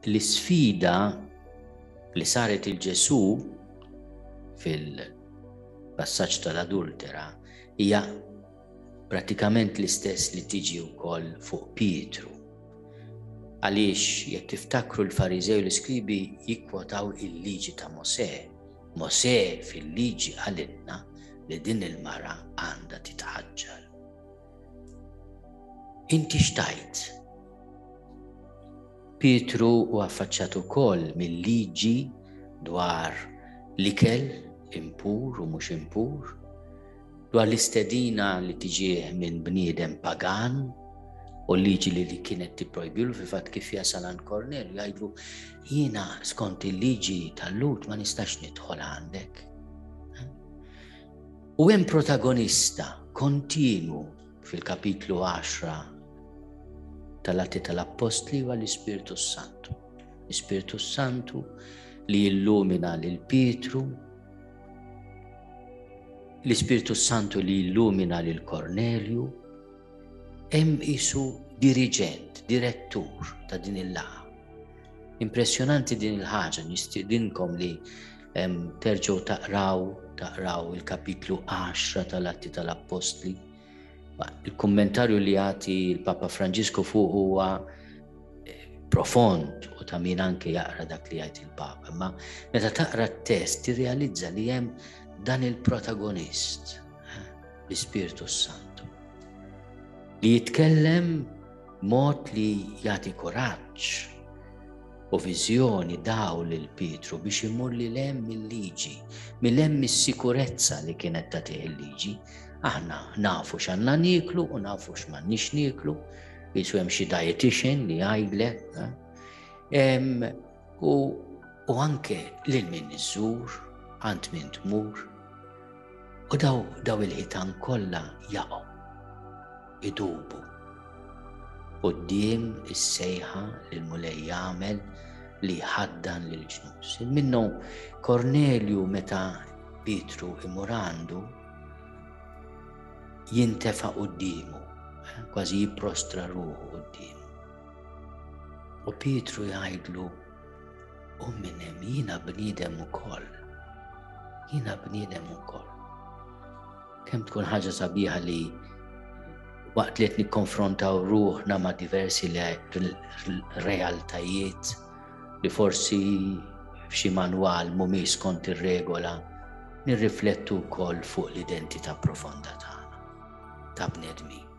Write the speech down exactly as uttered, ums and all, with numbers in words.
L-isfida li saret il Ġesù fil-passaġġ tal-adultera hija prattikament l-istess li tiġi wkoll fuq Pietru. Għaliex jekk tiftakru, l-Fariżew u l-iskribi jikkwotaw il-liġi ta' Mosè. Mosè fil-liġi qalilna li din il-mara għandha titħaġġar. Inti x'tgħid? Pietru hu affaċċat ukoll mill-liġi dwar l-ikel impur u mhux impur, dwar l-istedina li tiġih minn bniedem pagan u l-liġi li, li kienet tipprojbilu. Fil-fatt, kif jasal għand Kornelju, jgħidlu: "Jiena skont il-liġi tal-Lhud ma nistax nidħol għandek." U hemm protagonista kontinu fil-kapitlu għaxra tal-Atti tal-Appostli, huwa l-Ispirtu Santu. L-Ispirtu Santu li illumina lil Pietru, l-Ispirtu Santu li illumina lil Kornelju, hemm qisu diriġent, direttur ta' din il-laqgħa. Impressjonanti din il-ħaġa, nistidinkom li terġgħu taqraw taqraw il-kapitlu għaxra tal-Atti tal-Appostli. Il-kommentarju li jagħti il-Papa Franġisku fuq huwa eh, profond u ta' min anke jaqra dak li jgħid il-Papa. Ma meta taqra t-test tirrealizza li hemm dan il-protagonist, eh, l-Ispirtu Santu, li jitkellem mod li jagħti kuraġġ u viżjoni daw lil Pietru biex imur lil hemm mill-liġi, lil hemm mis-sikurezza li kienet tagħtih il-liġi. Aħna nafu x'għandna nieklu u nafu x'm'għandniex nieklu, qisu hemm xi dietitian li jgħidlek. Eh? U, u anke lil min iżżur, għand min tmur. U daw, daw il-ħitan kollha jaqgħu, idubu quddiem is-sejħa li l-Mulej jagħmel li jħaddan lil ġnus. Minnu Kornelju, meta Pietru imur għandu, jintefa' quddiemu, eh, kważi jipprostra ruħu quddiemu. U Pietru jgħidlu: "U minn hemm, jiena bniedem ukoll. Jiena bniedem ukoll." Kemm tkun ħaġa sabiħa li waqt li qed nikkonfrontaw ruħna ma' diversi realtajiet li forsi f'xi manwal mhumiex skont ir-regola, nirriflettu wkoll fuq l-identità profonda tagħna ta' bnedmin.